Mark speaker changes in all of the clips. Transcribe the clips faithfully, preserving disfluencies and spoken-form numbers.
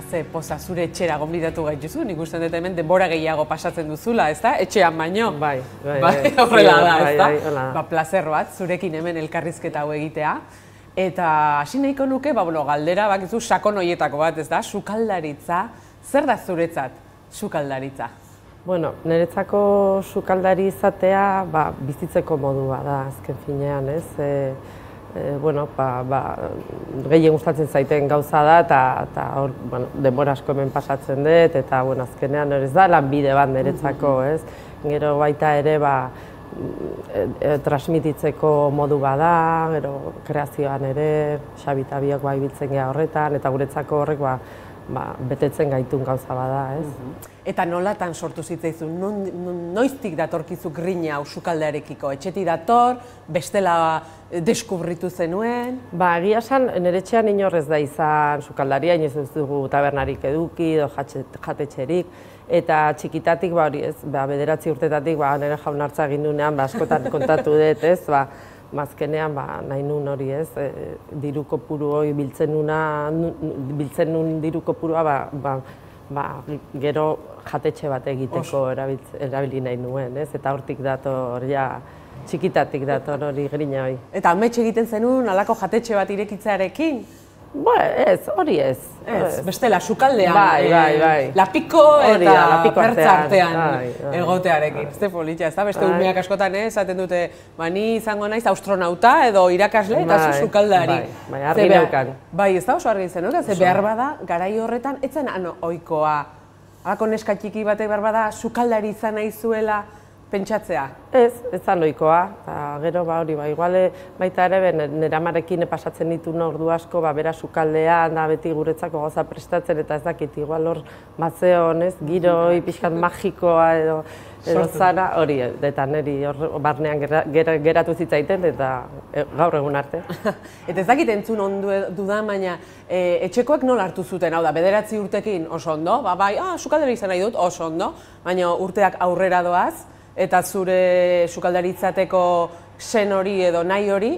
Speaker 1: ze poza zure etxera gonbidatu gaituzu, nik uste dut hemen denbora gehiago pasatzen duzula, ez da? Etxean baino.
Speaker 2: Bai, bai,
Speaker 1: bai. Horrela da, ez da? Ba, plazer bat, zurekin hemen elkarrizketa hau egitea. Eta hasi nahiko nuke, ba, bueno, galdera, bakizu, sakon horietako bat, ez da? Sukaldaritza, zer da zuretzat sukaldaritza?
Speaker 2: Bueno, niretzako sukaldari izatea, ba, bizitzeko modua da, azken finean, ez? E, E, bueno, ba, ba, gehien gustatzen zaiten gauza da, eta hor, bueno, denbora asko hemen pasatzen dut, eta bueno, azkenean ez da lanbide bat niretzako, ez? Gero baita ere, ba, e, e, transmititzeko modu bada, gero kreazioan ere, Xabi eta biok ba ibiltzen geha horretan, eta guretzako horrek ba, ba, betetzen gaitun gauza bada, ez?
Speaker 1: Eta nolatan sortu zitzaizun, noiztik datorkizu grina hau sukaldearekiko? Etxetik dator, bestela deskubritu zenuen?
Speaker 2: Ba, egia esan, nire etxean inorrez da izan sukaldaria, inoiz ez dugu tabernarik eduki, edo jatetxerik, eta txikitatik, ba, hori ez, ba, bederatzi urtetatik, ba, nire jaunartza egin dunean, ba, askotan kontatu dut, ez, ba, mazkenean, ba, nahi nun hori ez, e, diru kopuru hori biltzen nuna, biltzen nun diru kopurua, ba, ba, ba, gero jatetxe bat egiteko erabili nahi nuen, ez? Eta hortik dator, ja, txikitatik dator hori grina hori.
Speaker 1: Eta amets egiten zenun alako jatetxe bat irekitzearekin?
Speaker 2: Ba, ez, hori ez.
Speaker 1: Ez, bestela, sukaldean,
Speaker 2: bai, bai, bai.
Speaker 1: lapiko eta pertza artean egotearekin. Ez de politia, ez da? Beste umeak askotan ez, esaten dute, ba, ni izango naiz astronauta edo irakasle eta zu sukaldari.
Speaker 2: Bai, bai, argi neukan.
Speaker 1: Bai, ez da oso argi zen, ze behar bada, garai horretan, etzen ohikoa. Halako neska txiki batek behar bada, sukaldari izan nahi zuela pentsatzea?
Speaker 2: Ez, ez zan ohikoa. Gero, ba, hori, ba, igual baita ere, nire amarekin pasatzen dituen ordu asko, ba, bera sukaldean, da, beti guretzako gauza prestatzen, eta ez dakit, igual hor, batzeon, ez, giroi, pixkat magikoa, edo, edo zara, hori, eta niri hor barnean geratu zitzaiten, eta gaur egun arte.
Speaker 1: Eta ez dakit entzun ondu dudan, baina etxekoek nola hartu zuten, hau da, bederatzi urtekin oso ondo, ba, bai, ah, sukaldari izan nahi dut, oso ondo, baina urteak aurrera doaz, eta zure sukaldaritzateko sen hori edo nahi hori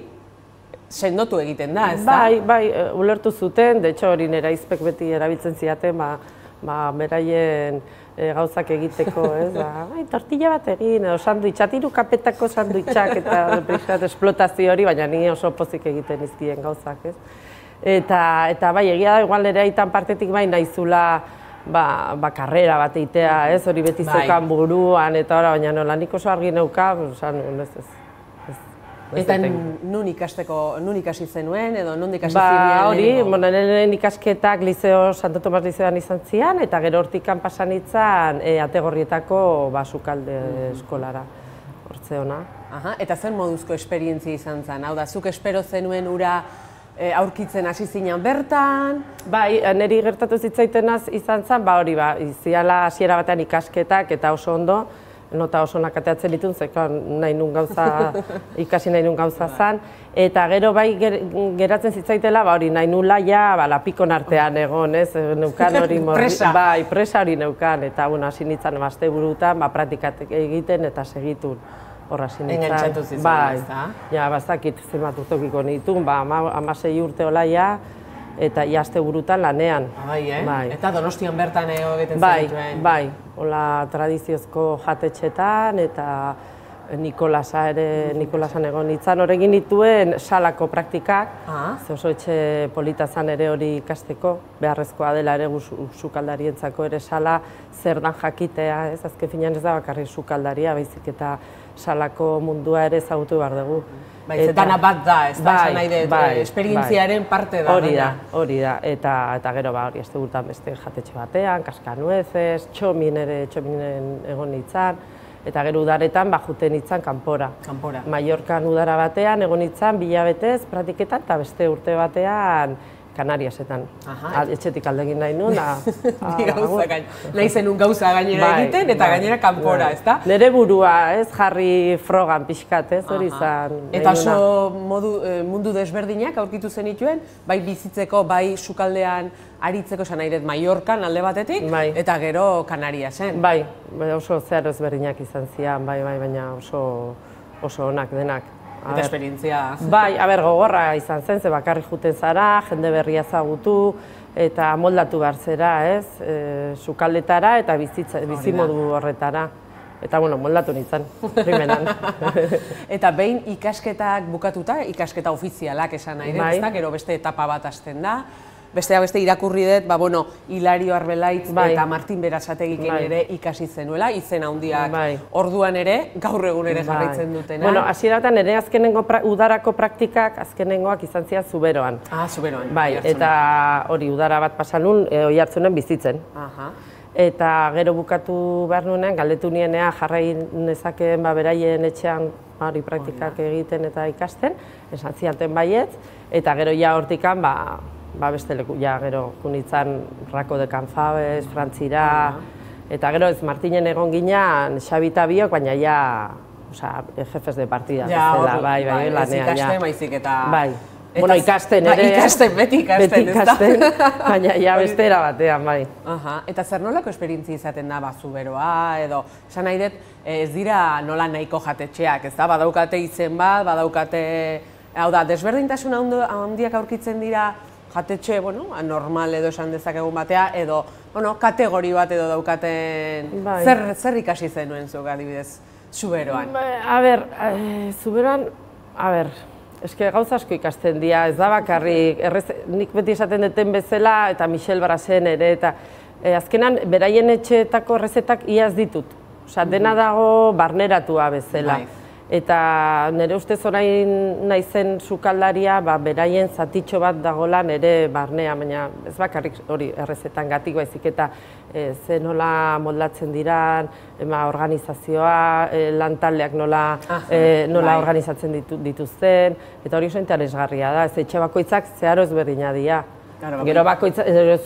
Speaker 1: sendotu egiten da, ez da?
Speaker 2: Bai, bai, ulertu zuten, de hecho hori nera izpek beti erabiltzen ziaten, ba, beraien gauzak egiteko, ez, bai, tortilla bat egin, edo sanduitxat, hiru kapetako sanduitxak eta esplotazio hori, baina ni oso pozik egiten izkien gauzak, ez? Eta bai, egia da, igual nera aitan partetik bai nahizula ba, karrera bat eitea, ez, hori beti zeukan buruan, eta hori, baina nola nik oso argi neuka, ez, ez.
Speaker 1: Eta nun ikasteko, nun ikasi zenuen, edo nun ikasi
Speaker 2: zinean?
Speaker 1: Ba,
Speaker 2: hori, nire ikasketak Liceo, Santo Tomas Liceoan izan zian, eta gero hortikan pasan itzan Ategorrietako sukalde eskolara, hortze ona.
Speaker 1: Eta zer moduzko esperientzia izan zen? Hau da, zuk espero zenuen ura aurkitzen hasi zinean bertan?
Speaker 2: Bai, niri gertatu zitzaitenaz izan zen, ba hori, ba, iziala hasiera batean ikasketak eta oso ondo, nota oso nakateatzen ditun, zeka nahi nun gauza, ikasi nahi nun gauza zen, eta gero bai geratzen zitzaitela, ba hori, nahi nula ja, ba, lapikon artean egon, ez, neukan hori morri, bai, presa hori neukan, eta bueno, hasi nintzen aste burutan, ba, praktikatek egiten eta segitun. Horra zinitzen.
Speaker 1: Engantzatu zizuen, ez da?
Speaker 2: Ja, bazakit zenbat urtokiko nituen, ba, hamasei urte hola ja, eta aste burutan lanean.
Speaker 1: Bai, eh? Eta Donostian bertan egiten zenituen?
Speaker 2: Bai, bai, hola tradiziozko jatetxetan, eta Nikolasa ere, Nikolasan egon nintzen horregin dituen salako praktikak, ze oso etxe polita zan ere hori ikasteko, beharrezkoa dela ere sukaldarientzako ere sala zer dan jakitea, ez azken finean ez da bakarrik sukaldaria, baizik eta salako mundua ere ezagutu behar dugu.
Speaker 1: Bai, dana bat da, ez da, esan nahi dut, esperientziaren parte da.
Speaker 2: Hori da, hori da, eta gero ba hori, ez dugutan beste jatetxe batean, kaskanuezez, txomin ere, txominen egon nintzen, eta gero udaretan bajuten nintzen kanpora.
Speaker 1: Kanpora.
Speaker 2: Mallorcan udara batean egon nintzen bilabetez praktiketan eta beste urte batean Kanariasetan. Etxetik aldegin nahi nuen.
Speaker 1: Nahi zenun gauza gainera egiten eta gainera kanpora, ez da?
Speaker 2: Nire burua, ez, jarri frogan pixkat, ez, hori izan.
Speaker 1: Eta oso mundu desberdinak aurkitu zenituen, bai bizitzeko, bai sukaldean aritzeko esan nahi dut Mallorcan alde batetik, eta gero Kanariasen.
Speaker 2: Bai, oso zeharo ezberdinak izan zian, bai, bai, baina oso onak denak.
Speaker 1: Eta esperientzia.
Speaker 2: Bai, aber, gogorra izan zen, ze bakarrik juten zara, jende berria ezagutu, eta moldatu behar zera, ez? E, sukaldetara eta bizimodu horretara. Eta, bueno, moldatu nintzen, primeran.
Speaker 1: Eta behin ikasketak bukatuta, ikasketa ofizialak esan nahi dut, ezta? Gero beste etapa bat hasten da. Besteak beste irakurri dut, ba, bueno, Hilario Arbelaitz eta Martin Berasategikin ere ikasi zenuela, izen handiak orduan ere, gaur egun ere jarraitzen dutena.
Speaker 2: Bueno, hasieratan ere azkenengo udarako praktikak azkenengoak izan zian Zuberoan.
Speaker 1: Ah, Zuberoan.
Speaker 2: Bai, eta hori udara bat pasan nun, Oiartzunen bizitzen. Eta gero bukatu behar nuenean, galdetu nienea jarrai nezakeen beraien etxean hori praktikak egiten eta ikasten, esan ziaten baietz, eta gero ja hortikan, ba beste leku, ja gero junitzen Rako de Canfabes, Frantzira, eta gero ez Martinen egon ginean Xabi eta biok, baina ja, osea, jefes de partida bezala, bai, bai, lanean, ja.
Speaker 1: Ez ikasten baizik eta...
Speaker 2: Bai. Bueno, ikasten ere,
Speaker 1: ikasten, beti ikasten,
Speaker 2: beti ikasten, baina ja bestera batean, bai.
Speaker 1: Eta zer nolako esperientzia izaten da, ba, Zuberoa, edo, esan nahi dut, ez dira nola nahiko jatetxeak, ez da, badaukate izen bat, badaukate, hau da, desberdintasun handiak aurkitzen dira jatetxe, bueno, normal edo esan dezakegun batea, edo, bueno, kategori bat edo daukaten, zer ikasi zenuen zuk, adibidez, Zuberoan?
Speaker 2: A ber, Zuberoan, a ber, eske gauza asko ikasten dira, ez da bakarrik, nik beti esaten duten bezala, eta Michel Brasen ere, eta azkenan, beraien etxeetako errezetak iaz ditut. Osa, dena dago barneratua bezala. Eta nire ustez orain naizen sukaldaria, beraien zatitxo bat dagoela nire barnea, baina ez bakarrik hori errezetan gatik baizik eta ze nola moldatzen diran, organizazioa, lantaldeak nola organizatzen dituzten, eta hori oso interesgarria da, ez etxe bakoitzak zeharo ezberdina dira. Gero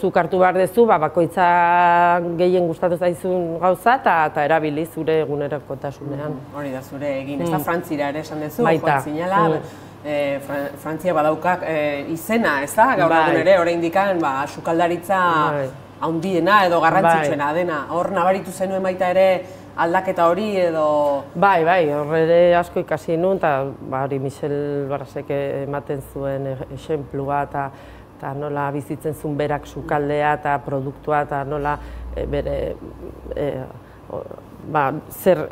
Speaker 2: zuk hartu behar dezu, bakoitza gehien gustatu zaizun gauza eta erabili zure egunerokotasunean.
Speaker 1: Hori da zure egin, ez da Frantzira ere esan dezu, joan zinela, Frantzia badaukak izena, ez da? Gaur egun ere, oraindik sukaldaritza handiena edo garrantzitsuena dena. Hor nabaritu zenuen baita ere aldaketa hori edo...
Speaker 2: Bai, bai, hor ere asko ikasi nuen, eta hori Michel Brasek ematen zuen esenplua eta eta nola bizitzen zuen berak sukaldea eta produktua eta nola bere zer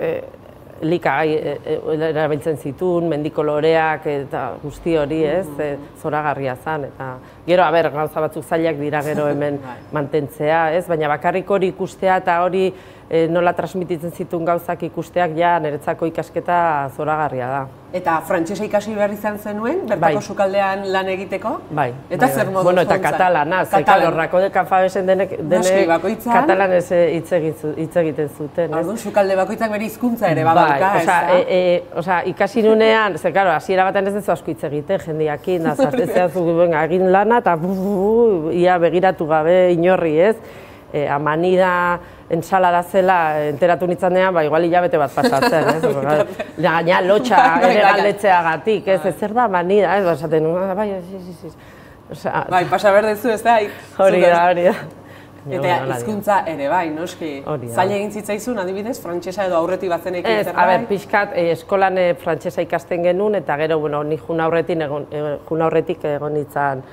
Speaker 2: likagai erabiltzen zituen, mendikoloreak eta guzti hori, ez, zoragarria zen. Gero, a ber, gauza batzuk zailak dira gero hemen mantentzea, ez, baina bakarrik hori ikustea eta hori nola transmititzen zituen gauzak ikusteak ja niretzako ikasketa zoragarria da.
Speaker 1: Eta frantsesa ikasi behar izan zenuen, bertako sukaldean lan egiteko?
Speaker 2: Bai.
Speaker 1: Eta zer moduz?
Speaker 2: Bueno, eta katalana, zeka Rako de Canfabesen denek katalanez hitz egiten zuten.
Speaker 1: Orduan, sukalde bakoitzak bere hizkuntza ere badauka, ez da?
Speaker 2: Osa, ikasi nunean, ze, karo, hasiera batean ez dezu asko hitz egiten jendiakin, da, zartetzea zu egin lana, eta ia begiratu gabe inorri, ez? Amanida ensalada zela enteratu nintzen dean, ba, igual hilabete bat pasatzen, ez? Gaina lotxa ere galdetzeagatik, ez? Zer da amanida, ez? Basaten, bai, ez, ez, ez.
Speaker 1: Bai, pasa berdezu, ez da?
Speaker 2: Hori da, hori da.
Speaker 1: Eta hizkuntza ere, bai, noski? Zaila egin zitzaizun, adibidez, frantsesa edo aurretik bazenek
Speaker 2: ez, a ber, pixkat, eskolan frantsesa ikasten genuen, eta gero, bueno, ni jun aurretik egon nintzen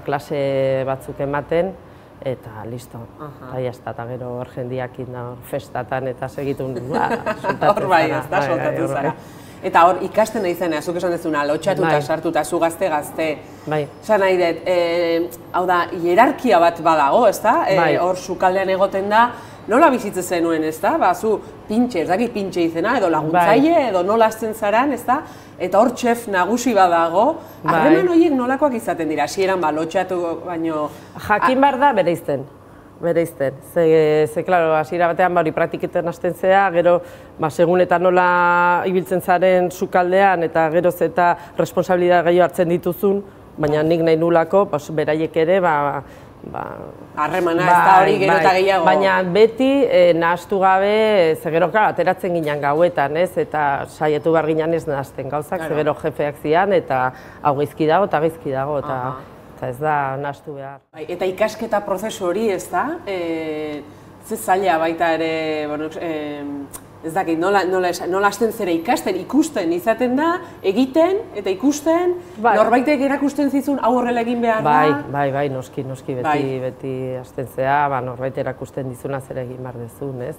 Speaker 2: klase batzuk ematen, eta listo, eta jazta, eta gero hor jendiakin da, festatan eta segitun, soltatzen zara.
Speaker 1: Hor bai, ez da, soltatu zara. Eta hor, ikasten nahi zena, zuk esan dezuna, lotxatu eta sartu eta zu gazte-gazte.
Speaker 2: Bai.
Speaker 1: Esan nahi dut, hau da, hierarkia bat badago, ez da? Hor, sukaldean egoten da, nola bizitzen zenuen, ez da? Ba, zu pintxe, ez dakit pintxe izena, edo laguntzaile, edo nola azten zaran, ez da? Eta hor txef nagusi badago, harreman horiek nolakoak izaten dira, hasieran ba, lotxatu baino...
Speaker 2: Jakin behar da bereizten, bereizten. Ze, klaro, hasiera batean hori praktiketan hasten zea, gero, segun eta nola ibiltzen zaren sukaldean, eta geroz eta responsabilidad gehiago hartzen dituzun, baina nik nahi nulako, beraiek ere, ba,
Speaker 1: harremana, ez da hori gero eta gehiago.
Speaker 2: Baina beti nahastu gabe, ze gero ateratzen ginen gauetan, ez? Eta saietu behar ginen ez nahazten gauzak, ze gero jefeak zian, eta hau gaizki dago eta gaizki dago, eta ez da nahastu behar.
Speaker 1: Eta ikasketa prozesu hori, ez da? Ze zaila baita ere, ez dakit, nola, nola, nola hasten zera ikasten, ikusten izaten da, egiten eta ikusten, bai. Norbaitek erakusten zizun hau horrela egin behar
Speaker 2: bai,
Speaker 1: da?
Speaker 2: Bai, bai, noski, noski, beti, bai. Beti hasten zera, ba, norbait erakusten dizuna zer egin behar dezun, ez?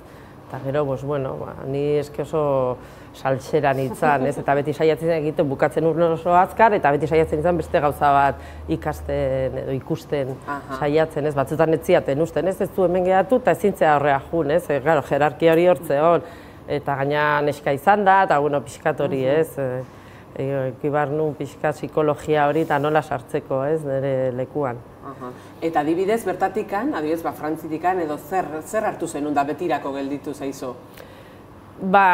Speaker 2: Eta gero, bos, bueno, ba, ni eske oso saltxeran itzan, ez? Eta beti saiatzen egiten bukatzen urnen oso azkar, eta beti saiatzen izan beste gauza bat ikasten edo ikusten Aha. saiatzen, ez? Batzutan ez ziaten usten, ez? Ez du hemen gehatu eta ezintzea horrea jun, ez? E, claro, jerarkia hori hortze hon, eta gaina neska izan da, eta bueno, pixkat hori, ez? Ekibar nun pixkat psikologia hori eta nola sartzeko, ez? Nire lekuan.
Speaker 1: Aha. Eta adibidez, bertatikan, adibidez, ba, Frantzitikan edo zer, zer hartu zenun da betirako gelditu zaizu?
Speaker 2: Ba,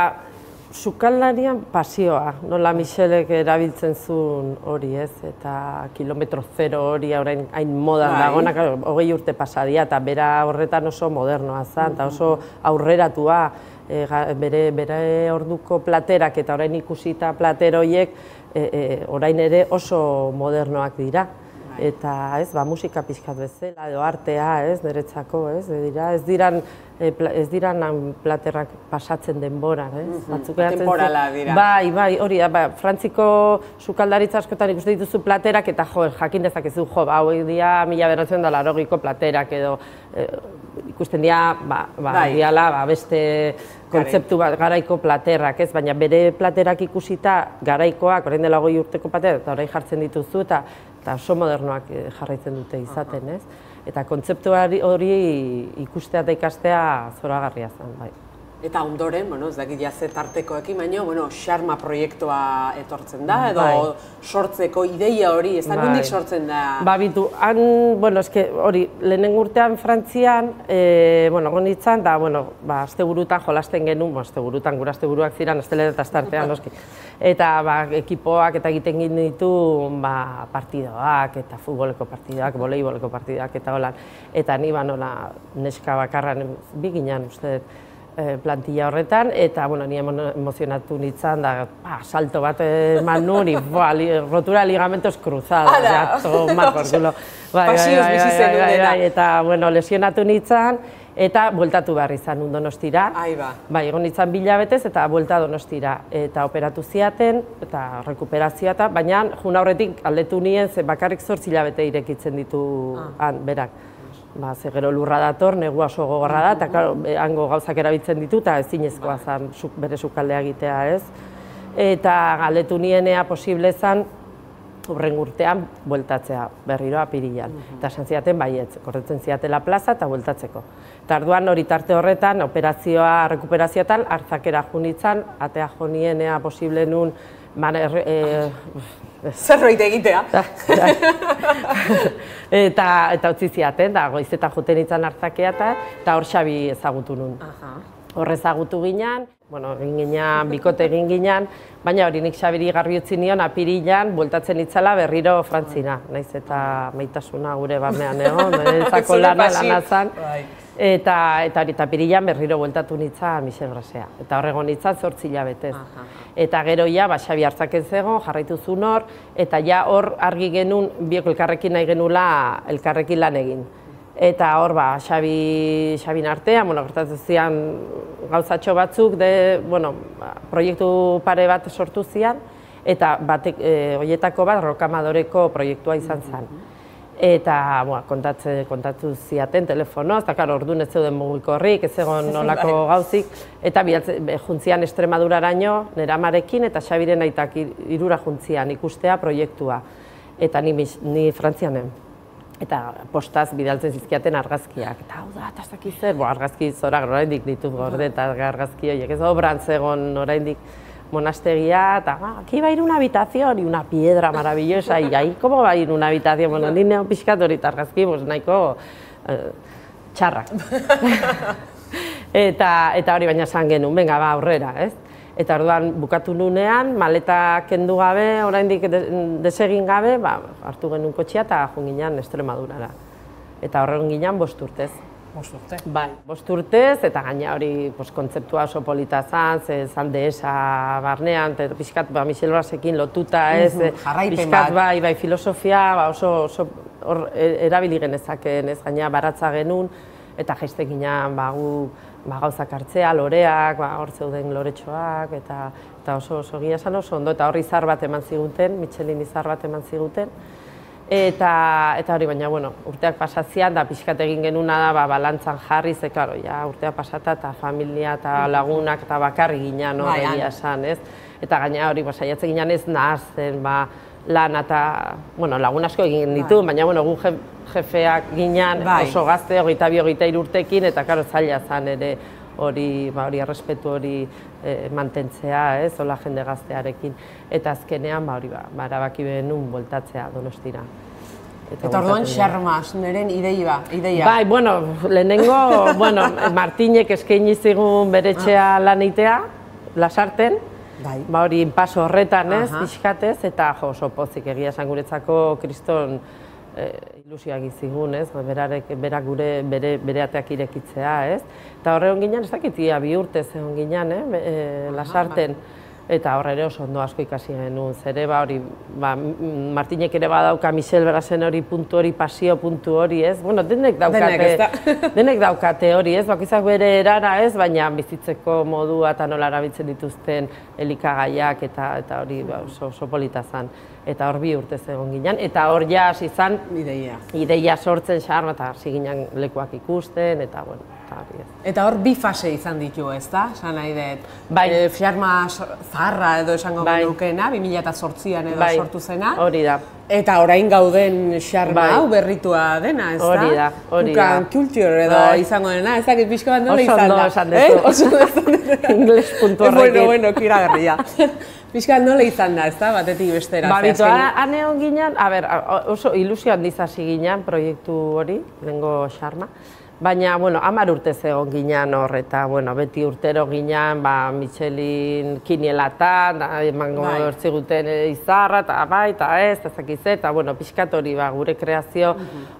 Speaker 2: sukaldarian pasioa, nola Michelek erabiltzen zuen hori, ez? Eta kilometro zero hori orain hain modan bai. Dagoena, hogei urte pasadia, eta bera horretan oso modernoa zen, eta oso aurreratua, e, bere, bere orduko platerak eta orain ikusita plater horiek e, e, orain ere oso modernoak dira. Eta ez, ba, musika pixkat bezala, edo artea, ez, niretzako, ez, dira, ez diran, ez diran platerrak pasatzen denboran, ez.
Speaker 1: Mm-hmm. Temporala dira.
Speaker 2: Bai, bai, hori da, ba, Frantziko sukaldaritza askotan ikusten dituzu platerak, eta jo, jakin dezakezu, jo, ba, hauek dira mila bederatziehun eta laurogiko platerak, edo e, ikusten dira, ba, ba, bai. Diala, ba, beste kontzeptu bat garaiko platerrak, ez, baina bere platerak ikusita garaikoak, orain dela hogei urteko platerak, eta orain jartzen dituzu, eta eta oso modernoak jarraitzen dute izaten, ez? Eta kontzeptu hori ikustea eta ikastea zoragarria zen, bai.
Speaker 1: Eta ondoren, bueno, ez dakit jaze tartekoekin, baina, bueno, Xarma proiektua etortzen da, edo
Speaker 2: bai.
Speaker 1: Sortzeko ideia hori, ez da nondik sortzen da?
Speaker 2: Ba, bitu, han, bueno, eske, hori, lehenengo urtean Frantzian, e, bueno, gonitzen, da, bueno, ba, asteburutan jolasten genuen, bo, asteburutan, gura asteburuak ziren, asteletan eta astartean, noski. Eta, ba, ekipoak eta egiten ginen ditu, ba, partidoak, eta futboleko partidoak, voleiboleko partidoak, eta holan. Eta ni, ba, nola, neska bakarran, bi ginen, uste, plantilla horretan, eta, bueno, ni emozionatu nintzen, da, ba, salto bat eman nuen, rotura ligamentos cruzados, ja, tomar por culo.
Speaker 1: Pasioz bizi zen dena.
Speaker 2: Eta, bueno, lesionatu nintzen, eta bueltatu behar izan nun Donostira.
Speaker 1: Ai ba.
Speaker 2: Bai, egon nintzen bilabetez, eta buelta Donostira. Eta operatu ziaten, eta rekuperazioa eta, baina, jun aurretik aldetu nien, ze bakarrik zortzi hilabete irekitzen ditu han, berak. Ba, ze gero lurra dator, negua oso gogorra da, eta claro, hango gauzak erabiltzen ditu, eta ezinezkoa zen bere sukaldea egitea, ez? Eta galdetu nienea posible zen, hurrengo urtean, bueltatzea, berriro apirilan. Eta esan ziaten baietz, korretzen ziatela plaza eta bueltatzeko. Eta arduan hori tarte horretan, operazioa, rekuperazioetan, hartzakera junitzen, atea jo nienea posible nun,
Speaker 1: zerbait egitea.
Speaker 2: Eta eta utzi ziaten, da goizetan joten nintzen hartzakea eta hor Xabi ezagutu nun. Hor ezagutu ginen, bueno, egin ginen, bikote egin ginen, baina hori nik Xabiri garbi utzi nion apirilan bueltatzen itzala berriro Frantzina. Naiz eta maitasuna gure barnean egon, niretzako lana lana zen. Eta eta hori apirilan berriro bueltatu nintzen Michel Grasea. Eta hor egon nintzen zortzi hilabetez. Eta gero ja, ba, Xabi hartzak ez egon, jarraitu zuen hor, eta ja hor argi genuen biok elkarrekin nahi genula elkarrekin lan egin. Eta hor, ba, Xabi, Xabin artean, bueno, gertatzen zian gauzatxo batzuk, de, bueno, proiektu pare bat sortu zian, eta batek, e, horietako bat Rokamadoreko proiektua izan zen. Eta, bueno, kontatze, kontatu ziaten telefonoz, eta karo, orduan ez zeuden mugikorrik, ez egon nolako gauzik, eta juntzian Extremaduraraino, nire amarekin, eta Xabiren aitak irura juntzian ikustea proiektua. Eta ni, ni Frantzianen. Eta postaz bidaltzen zizkiaten argazkiak. Eta hau da, eta ez dakit zer, bo, argazki zora, oraindik ditut gorde, eta argazki horiek, ez obran zegoen oraindik monastegia, eta aquí va a ir una habitación y una piedra maravillosa, y ahí, ¿cómo va a ir una habitación? Bueno, ni neo pixkat hori argazki, pues nahiko txarrak. Eta hori baina esan genuen, venga, ba, aurrera, ez? Eta orduan bukatu nunean, maleta kendu gabe, oraindik desegin gabe, hartu genuen kotxea eta joan ginen Extremadurara. Eta horren ginen bost urtez.
Speaker 1: Bost urte?
Speaker 2: Bai, bost urtez, eta gaina hori kontzeptua oso polita zan, ze zan dehesa barnean, eta pixkat Michel Grasekin lotuta ez, pixkat bai, bai, filosofia oso erabili genezakeen ez, gaina baratza genuen, eta jaiste ginen gu ba, gauzak hartzea, loreak, ba, hor zeuden loretxoak, eta, eta oso oso egia esan oso ondo, eta hor izar bat eman ziguten, Michelin izar bat eman ziguten. Eta, eta hori, baina, bueno, urteak pasatzean, da pixkat egin genuna da, ba, balantzan jarri, ze, klaro, ja, urteak pasata, eta familia, eta lagunak, eta bakarri ginen, hori egia esan, ez? Eta gaina hori, ba, saiatzen ginen ez nahazten, ba, lan eta, bueno, lagun asko egin ditu, baina, bueno, gu jefeak ginen oso gazte, hogeita bi, hogeita hiru urtekin, eta, klaro, zaila zan ere hori, ba, hori, errespetu hori mantentzea, ez, hola jende gaztearekin. Eta azkenean, ba, hori, ba, erabaki benun bueltatzea Donostira.
Speaker 1: Eta orduan xarma, neren ideia, ideia.
Speaker 2: Bai, bueno, lehenengo, bueno, Martinek eskaini zigun bere etxea lan egitea, Lasarten, ba hori paso horretan ez, pixkatez, eta jo, oso pozik egia esan guretzako kriston ilusioak izigun, ez, berak gure bere ateak irekitzea, ez. Eta horre hon ginen, ez dakitia, bi urtez egon ginen, Lasarten. Eta horre ere oso ondo asko ikasi genuen, zere ba hori, Martinek ere badauka Michel Brasen hori puntu hori, pasio puntu hori, ez? Bueno, denek daukate, denek daukate hori, ez? Bakizak bere erara, ez? Baina bizitzeko modua eta nola erabiltzen dituzten elikagaiak eta hori oso polita zen. Eta hor bi urtez egon ginen, eta hor ja hasi zen ideia sortzen xarma eta hasi ginen lekuak ikusten, eta bueno, eta hori ez.
Speaker 1: Eta hor bi fase izan ditu, ez da? Esan nahi dut, xarma zaharra edo esango genukeena, bi mila zortzian edo sortu zena.
Speaker 2: Hori da.
Speaker 1: Eta orain gauden xarma hau berritua dena, ez da?
Speaker 2: Hori da, hori da.
Speaker 1: Kukan kultur edo izango dena, ez dakit pixka bat nola izan da.
Speaker 2: Oso ondo esan dezu. Oso ondo esan dezu. Ingles puntu horrekin.
Speaker 1: Bueno, bueno, kira berria. Pixka nola izan da, ez da, batetik bestera.
Speaker 2: Ba, bitu, han egon ginen, a ber, oso ilusio handiz hasi ginen proiektu hori, lehengo xarma. Baina, bueno, hamar urtez egon ginen hor, eta, bueno, beti urtero ginen, ba, Michelin kinielatan, emango hortziguten izarra, eta bai, eta ez, eta zakizet, eta, bueno, pixkat hori, ba, gure kreazio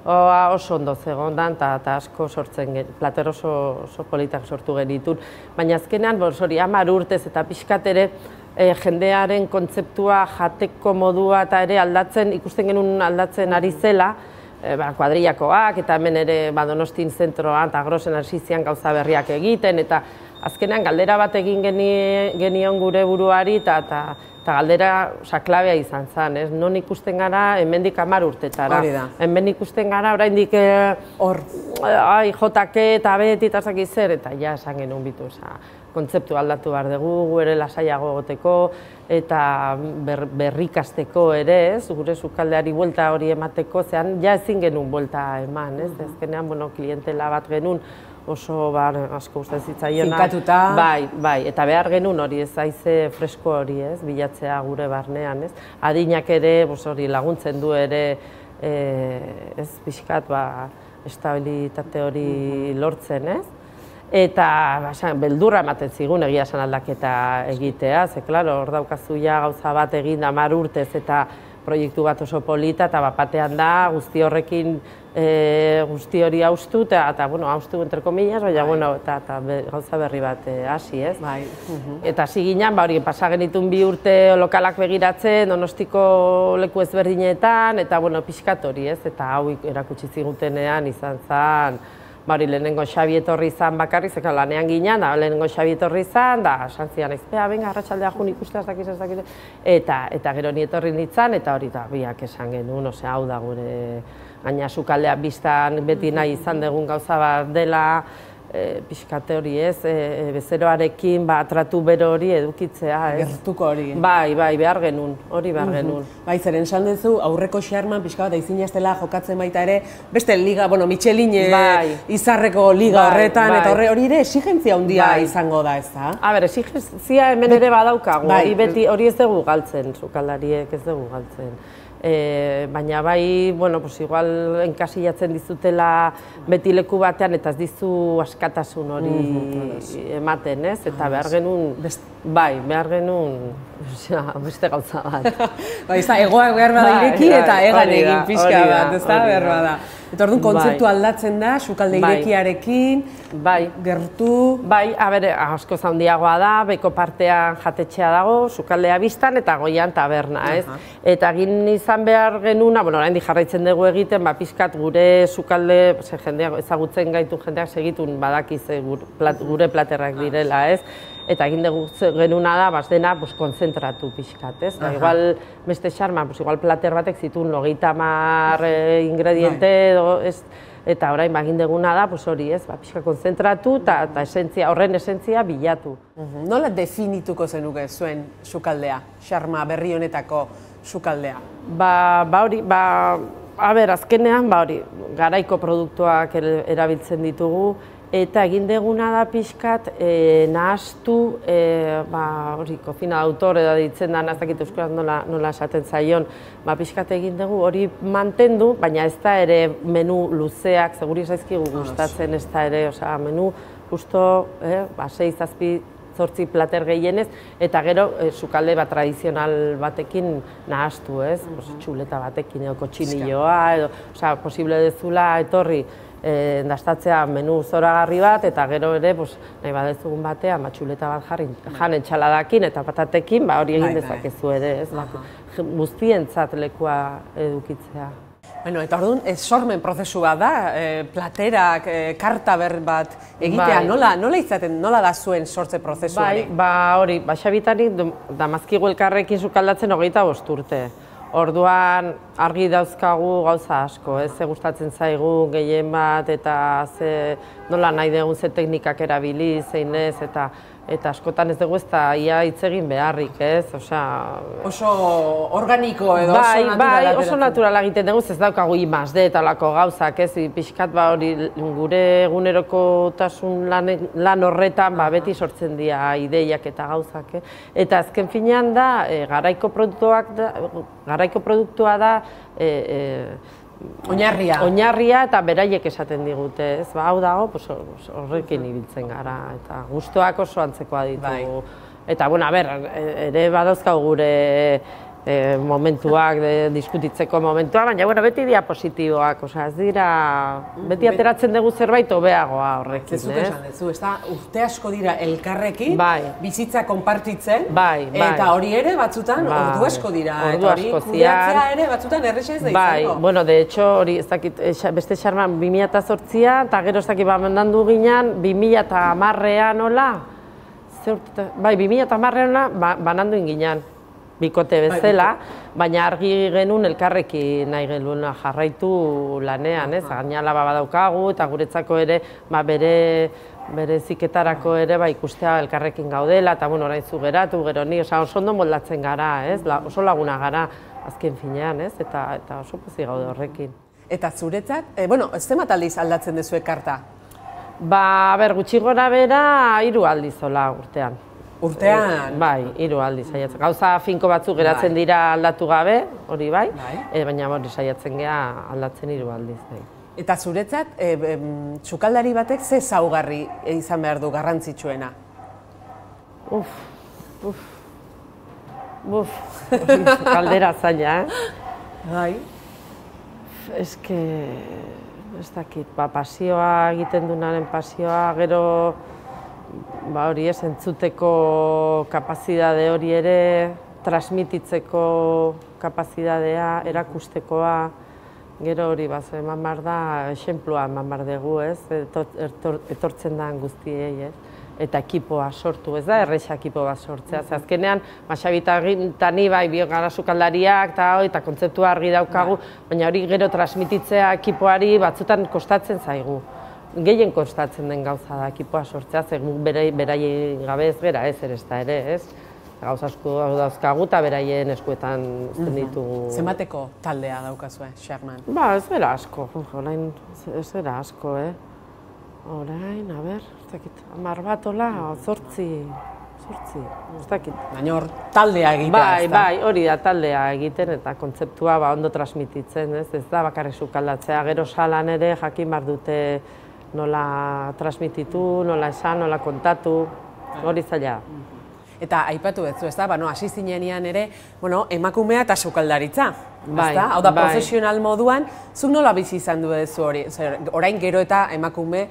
Speaker 2: oso ondo zegondan, eta asko sortzen, plater oso politak sortu genitun. Baina azkenean, hori, hamar urtez eta pixkat ere, jendearen kontzeptua jateko modua eta ere aldatzen, ikusten genuen aldatzen ari zela, kuadrillakoak eta hemen ere Donostin zentroan eta Grosen hasi zian gauza berriak egiten, eta azkenean galdera bat egin genion gure buruari eta galdera klabea izan zen, ez? Non ikusten gara hemendik hamar urtetara.
Speaker 1: Hori da.
Speaker 2: Hemen ikusten gara oraindik hor jotake eta beti eta zakiz zer, eta ja esan genuen bitu, kontzeptu aldatu behar dugu, ere lasaiago egoteko eta berrikasteko ere, ez? Gure sukaldeari buelta hori emateko, zean ja ezin genuen buelta eman, ez? Azkenean, bueno, klientela bat genuen oso asko gustatzen zitzaiona.
Speaker 1: Finkatuta.
Speaker 2: Bai, bai, eta behar genuen hori, ez haize fresko hori, ez? Bilatzea gure barnean, ez? Adinak ere, hori laguntzen du ere, ez, pixkat, estabilitate hori lortzen, ez? Eta beldurra ematen zigun egia esan aldaketa egitea, ze, klaro, hor daukazu ja gauza bat egin hamar urtez eta proiektu bat oso polita, eta batean da guzti horrekin guzti hori haustu, eta, bueno, haustu entre komillas, baina, bueno, eta gauza berri bat hasi, ez?
Speaker 1: Bai.
Speaker 2: Eta hasi ginen, ba, hori, pasa genitun bi urte lokalak begiratzen, Donostiko leku ezberdinetan, eta, bueno, pixkat hori, ez? Eta hau erakutsi zigutenean izan zen, Bari, lehenengo Xabi etorri izan bakarrik, zeka lanean ginen, da lehenengo Xabi etorri izan, da santzian ezpea, benga, arratsaldea jun ikustea, ez dakiz, ez dakiz, eta gero ni etorri nintzen, eta hori da, biak esan genuen, ose, hau da gure, gaina sukaldea biztan beti nahi izan dugun gauza bat dela, pixkate hori ez, bezeroarekin tratu bero hori edukitzea, ez?
Speaker 1: Gertuko hori.
Speaker 2: Bai, bai, behar genuen, hori behar genuen.
Speaker 1: Bai, zeren esan duzu, aurreko xarman pixka bat aizin jaztela jokatzen baita ere, beste liga, bueno, Michelin izarreko liga horretan, eta hori ere exigentzia handia izango da, ez da?
Speaker 2: A ber, exigentzia hemen ere badaukagu, hori ez dugu galtzen, sukaldariek ez dugu galtzen. Baina bai, bueno, pues igual enkasillatzen dizutela beti leku batean eta ez dizu askatasun hori ematen, ez? Eta behar genuen, bai, behar genuen beste gauza bat.
Speaker 1: Bai, egoak behar bada ireki eta egan egin pixka bat, ez da behar bada. Eta orduan kontzeptu aldatzen da, sukalde
Speaker 2: Bai.
Speaker 1: irekiarekin,
Speaker 2: Bai.
Speaker 1: gertu...
Speaker 2: Bai, a ber, asko handiagoa da, beko partean jatetxea dago, sukaldea biztan eta goian taberna, ez? Eta egin izan behar genuna, bueno, oraindik jarraitzen dugu egiten, ba, pixkat gure sukalde, ze jendeak ezagutzen gaitu jendeak segitun badakiz gure platerrak direla, ez? Eta egin dugu genuna da, bas dena, pues, konzentratu pixkat, ez? Ba, igual, beste xarma, pues, igual plater batek zituen hogeita hamar eh, ingrediente, edo, ez? Eta orain, ba, egin duguna da, pues, hori, ez? Ba, pixka konzentratu eta esentzia, horren esentzia bilatu.
Speaker 1: Nola definituko zenuke zuen sukaldea, xarma berri honetako sukaldea?
Speaker 2: Ba, ba hori, ba, a ber, azkenean, ba hori, garaiko produktuak erabiltzen ditugu, eta egin deguna da pixkat e, nahastu, e, ba, hori, kofina autor edo ditzen da, nazakit euskaraz nola, nola esaten zaion, ba, pixkat egin dugu hori mantendu, baina ez da ere menu luzeak, seguri zaizkigu gustatzen ez da ere, osea, menu justo, eh, ba, sei, zazpi, zortzi plater gehienez, eta gero e, sukalde bat tradizional batekin nahastu, ez? Pues, txuleta batekin, edo kotxinilloa, edo, osea, posible dezula etorri, E, dastatzea menu zoragarri bat, eta gero ere, pues, nahi badezugun batean, ba, txuleta bat jarri, jan entxaladakin eta patatekin, ba, hori egin dezakezu ere, ez? Ba, guztientzat lekua edukitzea.
Speaker 1: Bueno, eta orduan, sormen prozesu bat da, e, platerak, e, karta ber bat egitea,
Speaker 2: Bai.
Speaker 1: nola, nola izaten, nola da zuen sortze prozesu hori?
Speaker 2: Bai, ba hori, ba Xabitanik damazkigu elkarrekin sukaldatzen hogeita bost urte. Orduan argi dauzkagu gauza asko, ez ze gustatzen zaigu gehien bat eta ze nola nahi dugun ze teknikak erabili, zein ez, eta eta askotan ez dugu ez da ia hitz egin beharrik, ez? Osea,
Speaker 1: oso organiko edo
Speaker 2: bai,
Speaker 1: oso naturala.
Speaker 2: Bai, oso naturala egiten dugu, ez daukagu I más D eta lako gauzak, ez? Pixkat ba hori gure egunerokotasun lan, lan horretan ba, beti sortzen dira ideiak eta gauzak, eh? Eta azken finean da, e, garaiko produktuak da, garaiko produktua da, e, e,
Speaker 1: Oinarria.
Speaker 2: Oinarria eta beraiek esaten digute, ez? Ba, hau dago, pues, horrekin ibiltzen gara, eta gustuak oso antzekoa ditugu. Eta, bueno, a ber, ere badauzkagu gure e, momentuak, de, diskutitzeko momentuak, baina, bueno, beti dia positiboak, osea, ez dira, beti ateratzen dugu zerbait hobeagoa horrekin, ez?
Speaker 1: Ez zuk esan duzu, ez da, urte asko dira elkarrekin,
Speaker 2: bai.
Speaker 1: bizitza konpartitzen,
Speaker 2: bai, bai.
Speaker 1: eta hori ere batzutan
Speaker 2: bai.
Speaker 1: ordu asko dira,
Speaker 2: ordu
Speaker 1: eta hori
Speaker 2: asko
Speaker 1: kudeatzea ere batzutan erresa ez da
Speaker 2: bai,
Speaker 1: izango.
Speaker 2: Bueno, de hecho, hori, ez dakit, beste xarman bi mila zortzian, eta gero ez dakit bandandu ginen, bi mila hamarrean hola, bai, bi mila hamarrean ba, banandu inginen, bikote bezala, baina argi genuen elkarrekin nahi genuen jarraitu lanean, ez? Gainala badaukagu eta guretzako ere ba, bere bere ziketarako ere ba, ikustea elkarrekin gaudela, eta bueno, orain zu geratu, gero ni, oso ondo moldatzen gara, ez? La, oso laguna gara azken finean, ez? Eta, eta oso pozik gaude horrekin.
Speaker 1: Eta zuretzat, e, bueno, zenbat aldiz aldatzen duzu karta?
Speaker 2: Ba, ber, gutxi gora bera, hiru aldiz hola urtean.
Speaker 1: Urtean?
Speaker 2: E, bai, hiru aldiz saiatzen. Gauza finko batzuk geratzen bai. Dira aldatu gabe, hori bai, bai. E, baina hori saiatzen gea aldatzen hiru aldiz. Bai.
Speaker 1: Eta zuretzat, e, e, sukaldari batek ze ezaugarri izan behar du garrantzitsuena?
Speaker 2: Uf, uf, uf, kaldera zaila, eh?
Speaker 1: Bai.
Speaker 2: Ez que, ez dakit, ba, pasioa egiten dunaren pasioa, gero, ba hori ez, entzuteko kapazidade hori ere, transmititzeko kapazidadea, erakustekoa, gero hori bat, eman behar da, esenplua eman behar dugu, ez, etortzen da guztiei, ez, eta ekipoa sortu, ez da, erresa ekipo bat sortzea, ze azkenean, Xabita ni bai, biogara sukaldariak, eta kontzeptua argi daukagu, baina hori gero transmititzea ekipoari batzutan kostatzen zaigu. Gehien kostatzen den gauza da ekipoa sortzea, ze beraien gabe ez gera ez ere ez da ere, ez? Gauza asko dauzkagu eta beraien eskuetan uzten ditugu.
Speaker 1: Zenbateko taldea daukazue, Sherman?
Speaker 2: Ba, ez bera asko, orain ez bera asko, eh? Orain, a ber, ez dakit, hamar bat hola, zortzi, zortzi, ez dakit.
Speaker 1: Baina hor taldea egitea,
Speaker 2: bai,
Speaker 1: ez da?
Speaker 2: Bai, hori da taldea egiten eta kontzeptua ba, ondo transmititzen, ez? Ez da bakarrik sukaldatzea, gero salan ere jakin behar dute nola transmititu, nola esan, nola kontatu, hori zaila.
Speaker 1: Eta aipatu betzu, ez da, ba, no, hasi zinenean ere, bueno, emakumea eta sukaldaritza.
Speaker 2: Bai,
Speaker 1: ezta? Hau da,
Speaker 2: bai.
Speaker 1: profesional moduan, zuk nola bizi izan du duzu hori? Zer, orain gero eta emakume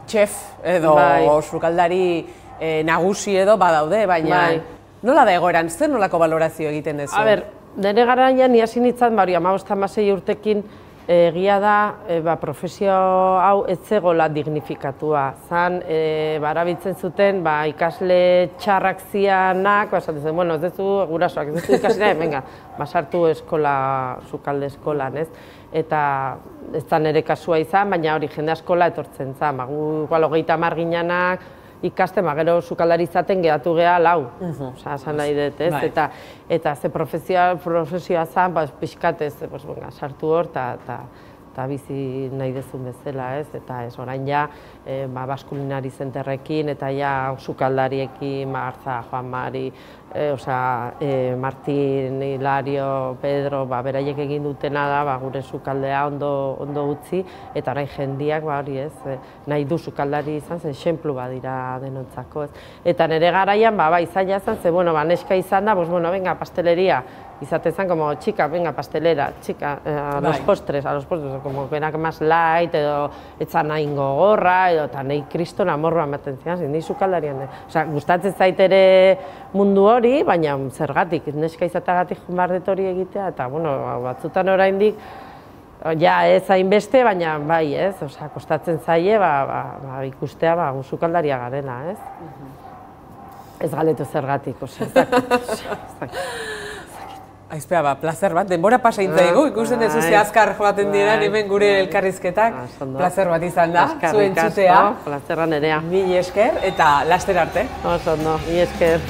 Speaker 1: txef edo
Speaker 2: Bai.
Speaker 1: sukaldari eh, nagusi edo badaude, baina
Speaker 2: Bai.
Speaker 1: nola da egoeran, zer nolako valorazio egiten duzu?
Speaker 2: A ber, nire garaian ni hasi nintzen, ba, hori, hamabost hamasei urtekin, egia da, e, ba, profesio hau ez zegoela dignifikatua. Zan, e, barabiltzen zuten, ba, ikasle txarrak zianak, ba, esaten zen, bueno, ez duzu gurasoak, ez duzu ikasle, venga, ba, sartu eskola, sukalde eskolan, ez? Eta ez da nire kasua izan, baina hori jende askola etortzen zen, ba, gu, igual, hogeita hamar ginenak, ikasten, ba, gero sukaldari izaten geratu geha lau, osea, esan nahi dut, ez? Eta, eta ze profesioa, profesioa zen, ba, pixkat ez, pues, venga, sartu hor, eta bizi nahi dezun bezala, ez? Eta ez, orain ja, e, ba, Baskulinari Zenterrekin, eta ja sukaldariekin, Marza, Juan Mari, e, osea, e, Martin, Hilario, Pedro, ba, beraiek egin dutena da, ba, gure sukaldea ondo, ondo utzi, eta orain jendiak, ba, hori ez, e, nahi du sukaldari izan, zen xenplu badira denontzako, ez? Eta nire garaian, ba, bai, zaila zen, ze, bueno, ba, neska izan da, pues, bueno, venga, pasteleria, izaten zen, como, chica, venga, pastelera, chica, eh, a los postres, a los postres, como, benak más light, edo, etzan nahi gogorra, edo, eta nahi kriston amorroa ematen zian, nahi sukaldarian. Osea, gustatzen zait ere mundu hori, baina zergatik, neska izatagatik junbardet hori egitea, eta, bueno, batzutan oraindik, ja, ez hainbeste, baina bai, ez, osea, kostatzen zaie, ba, ba, ba, ikustea, ba, sukaldaria garena, ez? Ez galetu zergatik, osea, ezakit.
Speaker 1: Aizpea, ba, plazer bat, denbora pasa intzaigu, ikusten ez uste azkar joaten dira, hemen gure elkarrizketak, plazer bat izan da, zuen txutea.
Speaker 2: Plazerra nerea.
Speaker 1: Mil esker, eta laster arte.
Speaker 2: Oso, no, mil esker.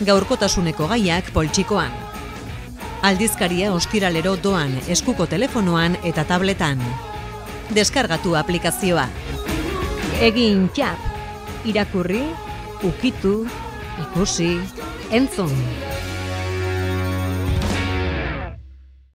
Speaker 3: Gaurkotasuneko gaiak poltsikoan. Aldizkaria ostiralero doan eskuko telefonoan eta tabletan. Deskargatu aplikazioa. Egin txap, irakurri, ukitu, ikusi, entzun.